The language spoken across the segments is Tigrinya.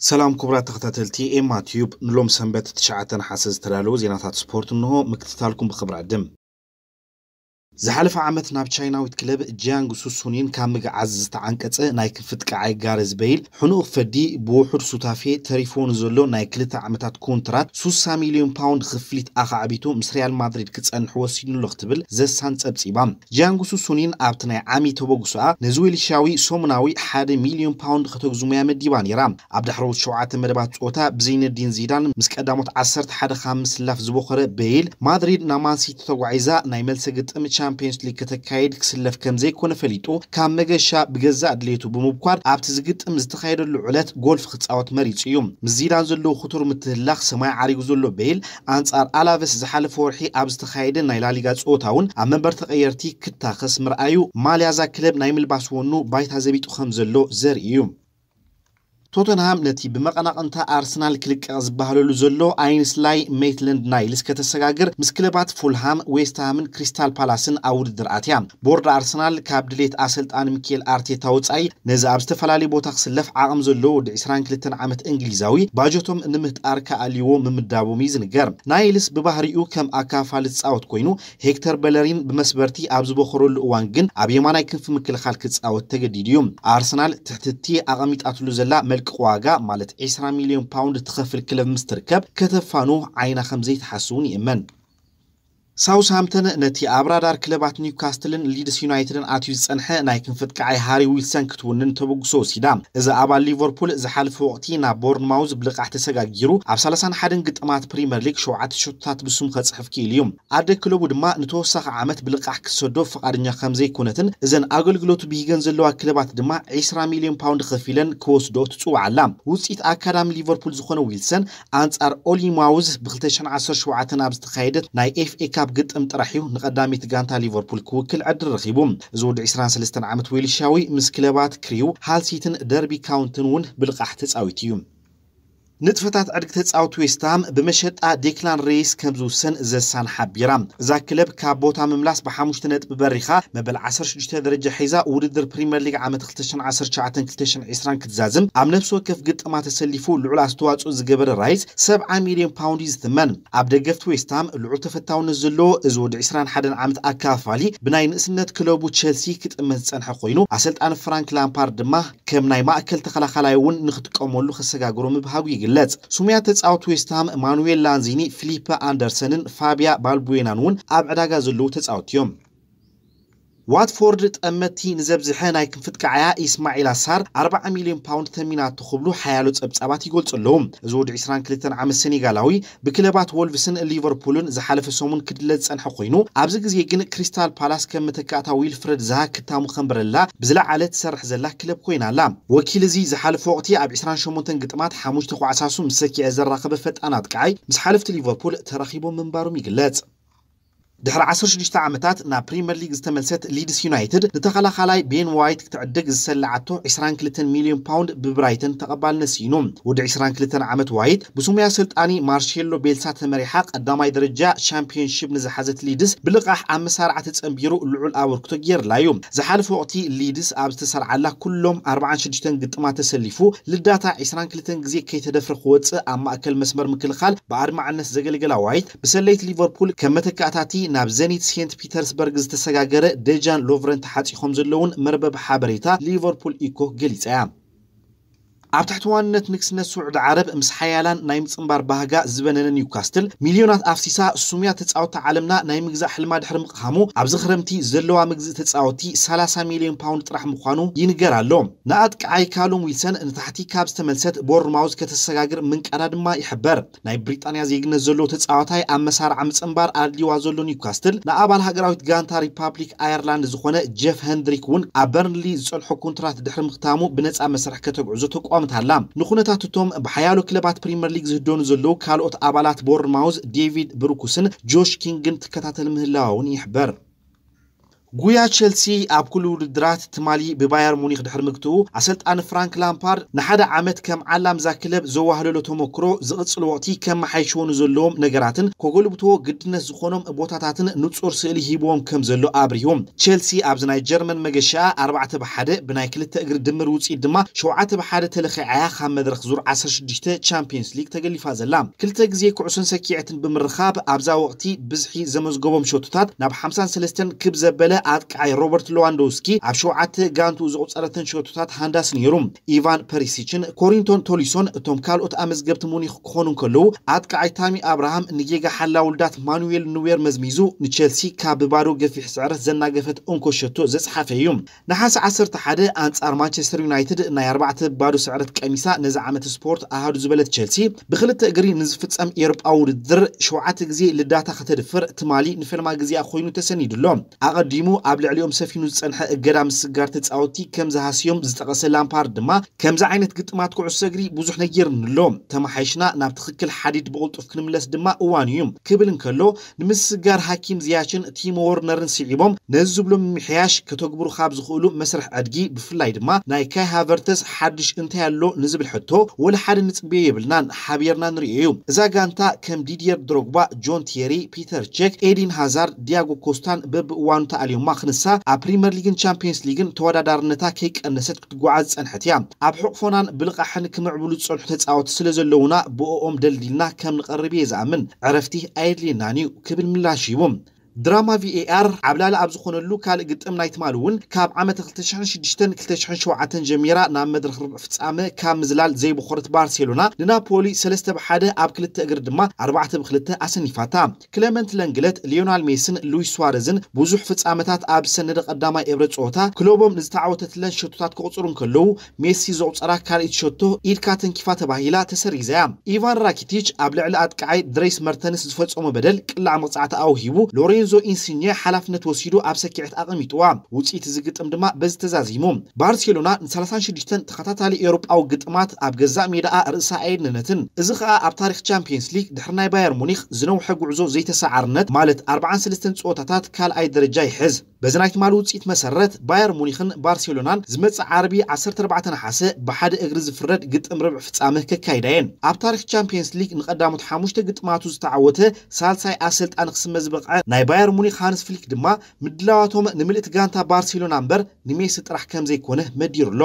ሰላም ክቡራት ተኸታተልቲ ኤማ ቲዩብ፣ ንሎም ሰንበት ትሽዓተ ነሓሰ ዝተዳለዉ ዜናታት ስፖርት እንሆ። ምክትታልኩም ብኽብሪ ዕድም። ዝሓለፈ ዓመት ናብ ቻይናዊት ክለብ ጂያንግ ሱሱኒን ካብ ምግዓዝ ዝተዓንቀጸ ናይ ክንፊ ጥቃዓይ ጋረዝ በይል ሕኑቕ ፈዲ ብውሑድ ሱታፌ ተሪፍዎ ንዘሎ ናይ ክልተ ዓመታት ኮንትራት ሱሳ ሚልዮን ፓውንድ ክፍሊት ኣኻዕቢቱ ምስ ሪያል ማድሪድ ክጸንሕ ወሲኑ ኣሎ ክትብል ዘሳን ጸብጺባ። ጂያንግ ሱሱኒን ኣብቲ ናይ ዓሚ ተበግሶኣ ነዚ ዌልሻዊ ሰሙናዊ ሓደ ሚልዮን ፓውንድ ከተግዝሙያ መዲባ ነይራ። ኣብ ዳሕረዎት ሸውዓተ መደባት ጸወታ ብዘይነዲን ዚዳን ምስ ቀዳሞት ዓሰርተ ሓደ ካብ ምስላፍ ዝበኾረ በይል፣ ማድሪድ ናብ ማንሲቲ ተጓዒዛ ናይ መልሰ ግጥም ቻምፒየንስ ሊግ ከተካይድ ክስለፍ ከም ዘይኮነ ፈሊጡ፣ ካብ መገሻ ብገዛእ ድሌቱ ብምብኳር ኣብቲ ዝግጥም ዝተኻየደሉ ዕለት ጎልፍ ክጻወት መሪጹ እዩ። ምስ ዚዳን ዘለዎ ክቱር ምትህላኽ ሰማይ ዓሪጉ ዘሎ በይል፣ ኣንጻር ኣላቨስ ዝሓለፈ ወርሒ ኣብ ዝተኻየደ ናይ ላሊጋ ጸወታ እውን ኣብ መንበር ተቐየርቲ ክታኸስ ምርኣዩ፣ ማልያ እዛ ክለብ ናይ ምልባስ ወኑ ባይታ ዘቢጡ ከም ዘሎ ዘርኢ እዩ። ቶተንሃም ነቲ ብመቐናቕንታ ኣርሰናል ክልቀቕ ዝበሃለሉ ዘሎ ኣይንስላይ ሜትለንድ ናይልስ ከተሰጋግር ምስ ክለባት ፉልሃም፣ ዌስትሃምን ክሪስታል ፓላስን ኣብ ውድድር ኣትያ። ቦርድ ኣርሰናል ካብ ድሌት ኣሰልጣኒ ሚኬል ኣርቴታ ወጻኢ ነዚ ኣብ ዝተፈላለየ ቦታ ክስለፍ ዓቕም ዘለዎ ወዲ ዕስራን ክልተን ዓመት እንግሊዛዊ ባጀቶም ንምህጣር ክኣልይዎ ምምዳቦም እዩ ዝንገር። ናይልስ ብባህሪኡ ከም ኣካፋሊ ዝጻወት ኮይኑ፣ ሄክተር በለሪን ብመስበርቲ ኣብ ዝበኸረሉ እዋን ግን ኣብ የማናይ ክንፊ ምክልኻል ክጻወት ተገዲዱ እዩ። ኣርሰናል ትሕትቲ ኣቐሚጣትሉ ዘላ መልቅቕ ዋጋ ማለት ዕስራ ሚልዮን ፓውንድ ትኸፍል ክለብ ምስ ትርከብ ከተፋኑ ዓይና ከም ዘይትሓስውን ይእመን። ሳውስሃምተን ነቲ ኣብ ራዳር ክለባት ኒውካስትልን ሊድስ ዩናይትድን ኣትዩ ዝጸንሐ ናይ ክንፊ ጥቃዓይ ሃሪ ዊልሰን ክትውንን ተበግሶ ወሲዳ። እዚ ኣባል ሊቨርፑል ዝሓለፈ ወቕቲ ናብ ቦርንማውዝ ብልቓሕ ተሰጋጊሩ ኣብ ሰላሳን ሓደን ግጥማት ፕሪምየር ሊግ ሸውዓተ ሸቶታት ብስሙ ከጽሕፍ ክኢሉ እዩ። ኣደ ክለቡ ድማ ንተወሳኺ ዓመት ብልቓሕ ክትሰዶ ፍቓደኛ ከም ዘይኮነትን እዘን ኣገልግሎቱ ብሂገን ዘለዋ ክለባት ድማ ዕስራ ሚልዮን ፓውንድ ከፊለን ክወስዶ ትጽውዓ ኣላ። ውጽኢት ኣካዳሚ ሊቨርፑል ዝኾነ ዊልሰን ኣንጻር ኦሊማውዝ ብ ክልተ ሽሕን ዓሰርተ ሸውዓተን ኣብ ዝተኻየደ ናይ ኤፍ ኤ ካፕ ግጥም ጥራሕ እዩ ንቐዳሚት ጋንታ ሊቨርፑል ክውክል ዕድል ረኺቡ። እዚ ወዲ ዕስራን ሰለስተን ዓመት ዌልሻዊ ምስ ክለባት ክሪው፣ ሃል ሲትን ደርቢ ካውንትን እውን ብልቓሕ ተጻዊቱ እዩ። ንጥፈታት ዕድጊ ተጻወቲ ዌስትሃም ብመሸጣ ዴክላን ሬይስ ከም ዝውሰን ዘሳን ሓቢራ። እዛ ክለብ ካብ ቦታ ምምላስ ብሓሙሽተ ነጥቢ በሪኻ መበል ዓሰርተ ሽዱሽተ ደረጃ ሒዛ ውድድር ፕሪምየር ሊግ ዓመት ክልተ ሽሕን ዓሰርተ ትሽዓተን ክልተ ሽሕን ዕስራን ክትዛዝም ኣብ ነፍሲ ወከፍ ግጥማ ተሰሊፉ ልዑል ኣስተዋጽኦ ዝገበረ ራይስ ሰብዓ ሚልዮን ፓውንድ እዩ ዝትመን። ኣብ ደገፍቲ ዌስትሃም ልዑል ተፈታውነት ዘለዎ እዚ ወዲ ዕስራን ሓደን ዓመት ኣካፋሊ ብናይ ንእስነት ክለቡ ቸልሲ ክጥመት ዝጸንሐ ኮይኑ ኣሰልጣኒ ፍራንክ ላምፓርድ ድማ ከም ናይ ማእከል ተኸላኻላይ እውን ንክጥቀመሉ ከሰጋግሮ ምብሃጉ ይግለጽ። ስሙያ ተጻወቲ ዌስትሃም ማኑዌል ላንዚኒ፣ ፊሊፐ ኣንደርሰንን ፋቢያ ባልቡዌናን እውን ኣብ ዕዳጋ ዘለዉ ተጻወቲ እዮም። ዋትፎርድ ጠመቲ ንዘብዝሐ ናይ ክንፍጥቃዓያ ኢስማዒል ኣሳር ኣርባዓ ሚልዮን ፓውንድ ተሚናቶ ክብሉ ሓያሎ ጸብጻባት ይገልጹ ኣለዉ። እዚ ወዲ ዕስራን ክልተን ዓመት ሴኔጋላዊ ብክለባት ወልቭስን ሊቨርፑልን ዝሓለፈ ሰሙን ክድለ ዝጸንሐ ኮይኑ፣ ኣብዚ ግዜ ግን ክሪስታል ፓላስ ከም መተካእታ ዊልፍረድ ዛሃ ክታሙ ከንብረላ ብዝለዓለ ትሰርሕ ዘላ ክለብ ኮይና ኣላ። ወኪል እዚ ዝሓለፈ ወቕቲ ኣብ ዕስራን ሸሞንተን ግጥማት ሓሙሽተ ኳዕሳሱ ምስ ሰኪዐ ዘራኸበ ፈጣን ኣጥቃዓይ ምስ ሓለፍቲ ሊቨርፑል ተራኺቦም ምንባሮም ይግለጽ። ድሕሪ ዓሰርተ ሽዱሽተ ዓመታት ናብ ፕሪምየር ሊግ ዝተመልሰት ሊድስ ዩናይትድ ንተኸላኻላይ ቤን ዋይት ክትዕድግ ዝሰለዓቶ ዕስራን ክልተን ሚልዮን ፓውንድ ብብራይተን ተቐባልነት ስኢኑ። ወዲ ዕስራን ክልተን ዓመት ዋይት ብስሙያ ኣሰልጣኒ ማርሴሎ ቤልሳ ተመሪሓ ቀዳማይ ደረጃ ሻምፒዮንሺፕ ንዝሓዘት ሊድስ ብልቓሕ ኣብ መሳርዓ ተጸንቢሩ ልዑል ኣበርክቶ ገይርላ እዩ። ዝሓለፈ ወቕቲ ሊድስ ኣብ ዝተሰርዓላ ኩሎም ኣርባዓን ሽዱሽተን ግጥማት ተሰሊፉ ልዳታ ዕስራን ክልተን ግዜ ከይተደፍረ ክወጽእ ኣብ ማእከል መስመር ምክልኻል ብኣድማዕነት ዘገልገላ ዋይት ብሰለይቲ ሊቨርፑል ከም መተካእታቲ ናብ ዘኒት ሴንት ፒተርስበርግ ዝተሰጋገረ ደጃን ሎቭረን ተሓጺኾም ዘለውን መርበብ ሓበሬታ ሊቨርፑል ኢኮ ገሊጻ እያ። ኣብ ትሕቲ ዋንነት ንግስነት ስዑዲ ዓረብ ምስ ሓያላን ናይ ምጽንባር ባህጋ ዝበነነ ኒውካስትል ሚልዮናት ኣፍሲሳ ስሙያ ተጻወቲ ዓለምና ናይ ምግዛእ ሕልማ ድሕሪ ምቕሃሙ ኣብዚ ክረምቲ ዘለዋ ምግዝእ ተጻወቲ ሰላሳ ሚልዮን ፓውንድ ጥራሕ ምዃኑ ይንገር ኣሎ። ንኣጥቃዓይ ካሉም ዊልሰን ንታሕቲ ካብ ዝተመልሰት ቦርንማውዝ ከተሰጋግር ምንቃዳ ድማ ይሕበር። ናይ ብሪጣንያ ዜግነት ዘለዎ ተጻዋታይ ኣብ መሳርዓ ምጽንባር ኣድልዋ ዘሎ ኒውካስትል ንኣባል ሃገራዊት ጋንታ ሪፓብሊክ ኣየርላንድ ዝኾነ ጀፍ ሄንድሪክ እውን ኣብ በርንሊ ዝጸንሖ ኮንትራት ድሕሪ ምኽታሙ ብነጻ መስርሕ ከተግዕዞ ተቋምት ኣላ። ንኹነታት እቶም ብሓያሎ ክለባት ፕሪምየር ሊግ ዝህደኑ ዘለዉ ካልኦት ኣባላት ቦርንማውዝ ዴቪድ ብሩኩስን ጆሽ ኪንግን ትከታተል ምህላዋ እውን ይሕበር። ጉያ ቸልሲ ኣብ ኩሉ ውድድራት ትማሊ ብባየር ሙኒክ ድሕሪ ምግትኡ፣ ኣሰልጣኒ ፍራንክ ላምፓርድ ንሓደ ዓመት ከም ዓላም እዛ ክለብ ዘዋህለሎ ተመክሮ ዝቕጽል ወቕቲ ከመሓይሽዎ ንዘለዎም ነገራትን ከጎልብትዎ ግድነት ዝኾኖም ቦታታትን ንጹር ስእሊ ሂብዎም ከም ዘሎ ኣብሪሁ። ቸልሲ ኣብዚ ናይ ጀርመን መገሻ ኣርባዕተ ብሓደ ብናይ ክልተ እግሪ ድምር ውጽኢት ድማ ሸውዓተ ብሓደ ተለኺዓያ ካብ መድረኽ ዙር ዓሰርተ ሽዱሽተ ቻምፒየንስ ሊግ ተገሊፋ ዘላ። ክልተ ግዜ ኩዕሶን ሰኪዐትን ብምርኻብ ኣብዛ ወቕቲ ብዝሒ ዘመዝገቦም ሸቶታት ናብ ሓምሳን ሰለስተን ክብ ዘበለ ኣጥቃዓይ ሮበርት ሌዋንዶውስኪ ኣብ ሸውዓተ ጋንቱ ዘቑጸረተን ሸቶታት ሃንዳስ ነይሩ። ኢቫን ፐሪሲችን ኮሪንቶን ቶሊሶን እቶም ካልኦት ኣመዝገብቲ ሙኒክ ክኾኑ እንከለዉ፣ ኣጥቃዓይ ታሚ ኣብርሃም ንጌጋ ሓላ ውልዳት ማኑዌል ኑዌር መዝሚዙ ንቸልሲ ካብ ብባዶ ገፊሕ ስዕረት ዘናገፈት እንኮ ሸቶ ዘጽሓፈ እዩ። ነሓሰ ዓሰርተ ሓደ ኣንጻር ማንቸስተር ዩናይትድ ናይ ኣርባዕተ ባዶ ስዕረት ቀሚሳ ነዚ ዓመት ስፖርት ኣሃዱ ዝበለት ቸልሲ፣ ብክልተ እግሪ ንዝፍጸም ኤውሮጳዊ ውድድር ሸውዓተ ግዜ ልዳታ ከተድፍር ትማሊ ንፈልማ ግዜኣ ኮይኑ ተሰኒዱ ኣሎ። ኣቐዲሙ ኣብ ልዕሊኦም ሰፊኑ ዝጸንሐ እገዳ ምስጋር ተጻወትቲ ከም ዝሃስዮም ዝጠቐሰ ላምፓርድ ድማ፣ ከምዚ ዓይነት ግጥማት ኩዕሶ እግሪ ብዙሕ ነጊርኒ ኣሎ፣ ተመሓይሽና ናብ ትኽክል ሓዲድ ብቕልጡፍ ክንምለስ ድማ እዋኑ እዩ ክብል እንከሎ፣ ንምስጋር ሃኪም ዝያችን ቲሞ ወርነርን ስዒቦም ነዚ ዝብሎ ምምሕያሽ ከተግብሩ ካብ ዝኽእሉ መስርሕ ዕድጊ፣ ብፍላይ ድማ ናይ ካይ ሃቨርተስ ሓድሽ እንታይ ኣሎ ንዝብል ሕቶ፣ ወላ ሓደ ንጽበዮ የብልናን፣ ሓቢርና ንርእዮ እዩ። እዛ ጋንታ ከም ዲድየር ድሮግባ፣ ጆን ቲየሪ፣ ፒተር ቼክ፣ ኤዲን ሃዛርድ፣ ዲያጎ ኮስታን በብእዋኑ ተኣልዮማ ክንሳ ኣብ ፕሪምየር ሊግን ቻምፒየንስ ሊግን ተወዳዳርነታ ከይቀነሰት ክትጓዓዝ ዝጸንሐት እያ። ኣብ ሕቕፎናን ብልቓሕን ክምዕብሉ ዝጸንሑ ተጻወቲ ስለ ዘለዉና ብእኦም ደልዲልና ከም ንቐርብ እየ ዝኣምን። ዕረፍቲ ኣየድልየናን እዩ ክብል ምላሽ ሂቡ። ድራማ ቪኤኣር ዓብላሊ ኣብ ዝኾነሉ ካልእ ግጥም ናይ ትማሊ እውን ካብ ዓመት ክልተ ሽሕን ሽዱሽተን ክልተ ሽሕን ሸውዓተን ጀሚራ ናብ መድረኽ ርብዕ ፍጻመ ካብ ምዝላል ዘይበኾረት ባርሴሎና ንናፖሊ ሰለስተ ብሓደ ኣብ ክልተ እግሪ ድማ ኣርባዕተ ብክልተ ኣሰኒፋታ። ክለመንት ለንግለት፣ ሊዮናል ሜስን ሉዊስ ሱዋረዝን ብዙሕ ፍጻመታት ኣብ ዝሰነደ ቀዳማይ እብረ ጸወታ ክለቦም ንዝተዓወተትለን ሸቶታት ክቑጽሩ እንከለዉ፣ ሜሲ ዘቑጸራ ካልኣይቲ ሸቶ ኢድካ ተንኪፋ ተባሂላ ተሰሪዛ እያ። ኢቫን ራኪቲች ኣብ ልዕሊ ኣጥቃዓይ ድሬስ መርተንስ ዝፈጸሞ በደል ቅላዕ መቕጻዕቲ ኣውሂቡ፣ ሎሬንዞ ኢንሲኘ ሓላፍነት ወሲዱ ኣብ ሰኪዐት ኣቐሚጥዋ። ውጽኢት እዚ ግጥም ድማ በዚ ተዛዚሙ። ባርሴሎና ንሰላሳን ሽዱሽተን ተኸታታሊ ኤውሮጳዊ ግጥማት ኣብ ገዛእ ሜዳኣ ርእሳ ኣየድነነትን። እዚ ኸኣ ኣብ ታሪኽ ቻምፒየንስ ሊግ ድሕሪ ናይ ባየር ሙኒክ ዝነውሐ ጉዕዞ ዘይተሰዓርነት፣ ማለት ኣርባዓን ሰለስተን ጸወታታት ካልኣይ ደረጃ ይሕዝ። በዚ ናይ ትማሊ ውጽኢት መሰረት፣ ባየር ሙኒኽን ባርሴሎናን ዝመጽእ ዓርቢ ዓሰርተ ኣርባዕተ ነሓሰ ብሓደ እግሪ ዝፍረድ ግጥም ርብዕ ፍጻመ ከካይዳ እየን። ኣብ ታሪኽ ቻምፒየንስ ሊግ ንቐዳሞት ሓሙሽተ ግጥማቱ ዝተዓወተ ሳልሳይ ኣሰልጣኒ ክስመ ዝበቕዐ ናይ ባየር ሙኒክ ሃንስ ፍሊክ ድማ፣ ምድላዋቶም ንምልእቲ ጋንታ ባርሴሎና እምበር ንሜሲ ጥራሕ ከም ዘይኮነ መዲሩ ኣሎ።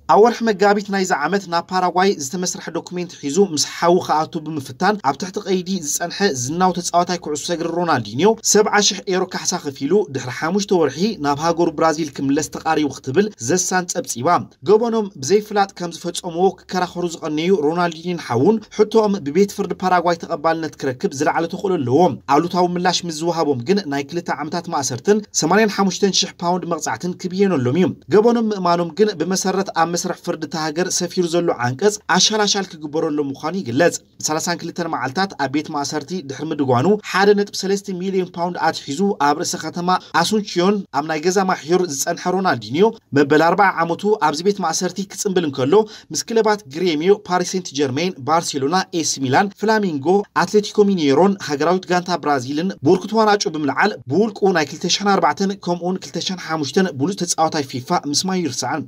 ኣብ ወርሒ መጋቢት ናይዚ ዓመት ናብ ፓራጓይ ዝተመስርሐ ዶኩሜንት ሒዙ ምስ ሓዉ ክኣቱ ብምፍታን ኣብ ትሕቲ ቀይዲ ዝጸንሐ ዝናው ተጻዋታይ ኩዕሶ እግሪ ሮናልዲንዮ፣ ሰብዓ ሽሕ ኤሮ ካሕሳ ከፊሉ ድሕሪ ሓሙሽተ ወርሒ ናብ ሃገሩ ብራዚል ክምለስ ተቓሪቡ ክትብል ዘሳን ጸብጺባ። ገበኖም ብዘይፍላጥ ከም ዝፈጸምዎ ክከራኸሩ ዝቐነዩ ሮናልዲንዮን ሓዉን፣ ሕቶኦም ብቤት ፍርዲ ፓራጓይ ተቐባልነት ክረክብ ዝለዓለ ተኽእሎ ኣለዎ። ኣሉታዊ ምላሽ ምስ ዝወሃቦም ግን ናይ ክልተ ዓመታት ማእሰርትን ሰማንያን ሓሙሽተን ሽሕ ፓውንድ መቕጻዕትን ክብየነሎም እዩ። ገበኖም ምእማኖም ግን ብመሰረት ኣብ መስርሕ ፍርዲ እታ ሃገር ሰፊሩ ዘሎ ዓንቀጽ ኣሻላሻል ክግበረሎም ምዃኑ ይግለጽ። ሰላሳን ክልተን መዓልታት ኣብ ቤት ማእሰርቲ ድሕሪ ምድጓኑ፣ ሓደ ነጥቢ ሰለስተ ሚልዮን ፓውንድ ኣትሒዙ ኣብ ርእሰ ከተማ ኣሱንቺዮን ኣብ ናይ ገዛ ማሕዩር ዝጸንሐ ሮናልዲንዮ፣ መበል ኣርብዓ ዓመቱ ኣብዚ ቤት ማእሰርቲ ክጽንብል እንከሎ፣ ምስ ክለባት ግሬሚዮ፣ ፓሪስ ሴንት ጀርሜን፣ ባርሴሎና፣ ኤሲ ሚላን፣ ፍላሚንጎ፣ ኣትሌቲኮ ሚኔሮን ሃገራዊት ጋንታ ብራዚልን ብውርክት ዋናጩ ብምልዓል፣ ብውልቁ ናይ ክልተ ሽሕን ኣርባዕተን ከምኡውን ክልተ ሽሕን ሓሙሽተን ብሉጽ ተጻዋታይ ፊፋ ምስማዩ ይርሳዕን።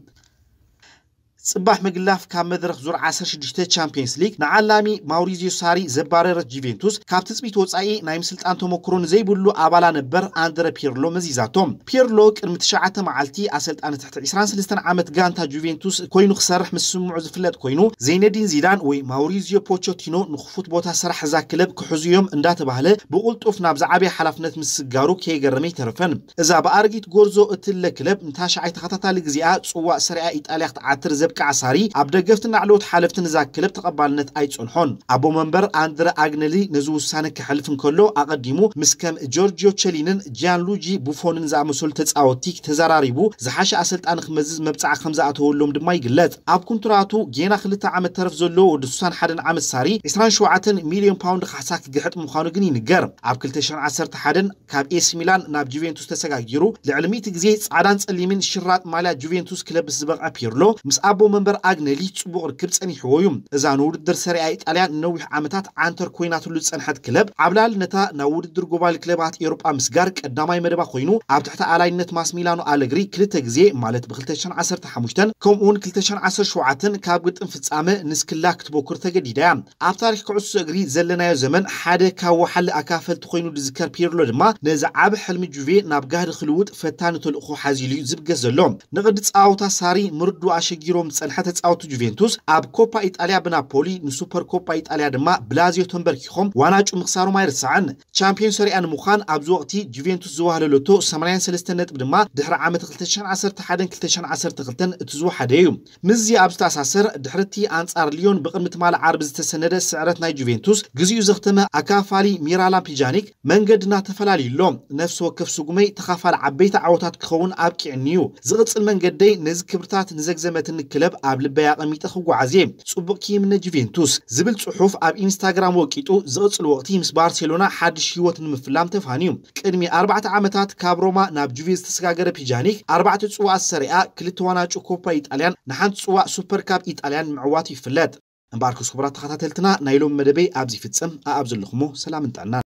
ጽባሕ ምግላፍ ካብ መድረኽ ዙር ዓሰርተ ሽዱሽተ ቻምፒየንስ ሊግ ንዓላሚ ማውሪዚዮ ሳሪ ዘባረረት ጁቬንቱስ፣ ካብ ትጽቢት ወጻኢ ናይ ምስልጣን ተመክሮ ንዘይብሉ ኣባላ ነበር ኣንድረ ፒርሎ መዚዛቶ። ፒርሎ ቅድሚ ትሽዓተ መዓልቲ ኣሰልጣኒ ትሕቲ ዕስራን ሰለስተን ዓመት ጋንታ ጁቬንቱስ ኮይኑ ክሰርሕ ምስ ስምዑ ዝፍለጥ ኮይኑ፣ ዘይነዲን ዚዳን ወይ ማውሪዚዮ ፖቾቲኖ ንኽፉት ቦታ ስራሕ እዛ ክለብ ክሕዙ እዮም እንዳተባህለ ብቕልጡፍ ናብ ዝዓበየ ሓላፍነት ምስጋሩ ከየገረመ ኣይተረፈን። እዛ ብኣረጊት ጎርዞ እትለ ክለብ ንታሽዓይ ተኸታታሊ ግዜኣ ጽዋእ ሰሪኣ ኢጣልያ ክትዓትር ዘብቅዓ ሳሪ፣ ኣብ ደገፍትን ላዕለዎት ሓለፍትን እዛ ክለብ ተቐባልነት ኣይጸንሖን። ኣቦ መንበር ኣንድረ ኣግነሊ ነዚ ውሳነ ከሕልፍ እንከሎ፣ ኣቐዲሙ ምስ ከም ጆርጂዮ ቸሊንን ጂያንሉጂ ቡፎንን ዝኣመሰሉ ተጻወትቲ ተዘራሪቡ ዝሓሸ ኣሰልጣኒ ክመዝዝ መብጽዓ ከም ዝኣተወሎም ድማ ይግለጽ። ኣብ ኩንትራቱ ጌና ክልተ ዓመት ተረፍ ዘለዎ ወዲ ስሳን ሓደን ዓመት ሳሪ፣ ዕስራን ሸውዓተን ሚልዮን ፓውንድ ካሕሳ ክግሕጥ ምዃኑ ግን ይንገር። ኣብ ክልተ ሽሕን ዓሰርተ ሓደን ካብ ኤሲ ሚላን ናብ ጁቬንቱስ ተሰጋጊሩ፣ ልዕሊ ሚእቲ ግዜ ጻዕዳን ጸሊምን ሽራጥ ማልያ ጁቬንቱስ ክለብስ ዝበቕዐ ፒርሎ፣ ምስ ኣቦ ኣቦ መንበር ኣግነሊ ጽቡቕ ርክብ ጸኒሕዎ እዩ። እዛ ንውድድር ሰሪኣ ኢጣልያ ንነዊሕ ዓመታት ዓንተር ኮይናትሉ ዝጸንሐት ክለብ፣ ዓብላል ነታ ናብ ውድድር ጎባሊ ክለባት ኤውሮጳ ምስጋር ቀዳማይ መደባ ኮይኑ፣ ኣብ ትሕቲ ኣላይነት ማስሚላኖ ኣለግሪ ክልተ ግዜ፣ ማለት ብ2015 ከምኡውን 2017 ካብ ግጥም ፍጻመ ንስክላ ክትቦክር ተገዲዳ እያ። ኣብ ታሪኽ ኩዕሶ እግሪ ዘለናዮ ዘመን ሓደ ካብ ወሓሊ ኣካፈልቲ ኮይኑ ዝዝከር ፒርሎ ድማ፣ ነዚ ዓቢ ሕልሚ ጁቬ ናብ ጋህዲ ክልውጥ ፈታኒ ተልእኾ ሓዚሉ እዩ ዝብገስ ዘሎ። ንቕዲ ጸዋታ ሳሪ ምርዱ ኣሸጊሮም ዝጸንሐ ተጻወቱ ጁቬንቱስ፣ ኣብ ኮፓ ኢጣልያ ብናፖሊ፣ ንሱፐር ኮፓ ኢጣልያ ድማ ብላዚዮ ተንበርኪኾም ዋናጩ ምኽሳሮም ኣይርሳዕን። ቻምፒዮን ሰሪኣ ንምዃን ኣብዚ ወቕቲ ጁቬንቱስ ዝዋህለለቶ 83 ነጥቢ ድማ ድሕሪ ዓመት 2011-2012 እቲ ዝወሓደ እዩ። ምስዚ ኣብ ዝተኣሳሰር፣ ድሕርቲ ኣንጻር ሊዮን ብቕድሚ ትማሊ ዓርቢ ዝተሰነደ ስዕረት ናይ ጁቬንቱስ፣ ግዜኡ ዘኽተመ ኣካፋሊ ሚራላም ፒጃኒክ፣ መንገድና ተፈላልዩ ኣሎ። ነፍሲ ወከፍ ስጉመይ ተኻፋሊ ዓበይቲ ዓወታት ክኸውን ኣብቂዕኒ እዩ። ዝቕጽል መንገደይ ነዚ ክብርታት ንዘግዘመትኒ ክለብ ኣብ ልበይ ኣቐሚጠ ክጓዓዝ እየ። ጽቡቕ ክይምነ ጁቬንቱስ ዝብል ጽሑፍ ኣብ ኢንስታግራም ወቂጡ፣ ዝቕጽል ወቕቲ ምስ ባርሴሎና ሓድሽ ህይወት ንምፍላም ተፋንዩ። ቅድሚ ኣርባዕተ ዓመታት ካብ ሮማ ናብ ጁቬ ዝተሰጋገረ ፒጃኒክ፣ ኣርባዕተ ጽዋኣት ሰሪኣ፣ ክልተ ዋናጩ ኮፓ ኢጣልያን ንሓንቲ ጽዋእ ሱፐር ካፕ ኢጣልያን ምዕዋቱ ይፍለጥ። እምበኣርከስ ክቡራት ተኸታተልትና፣ ናይ ሎሚ መደበይ ኣብዚ ይፍጽም። ኣኣብ ዘለኹሞ ሰላምን ጥዕናን።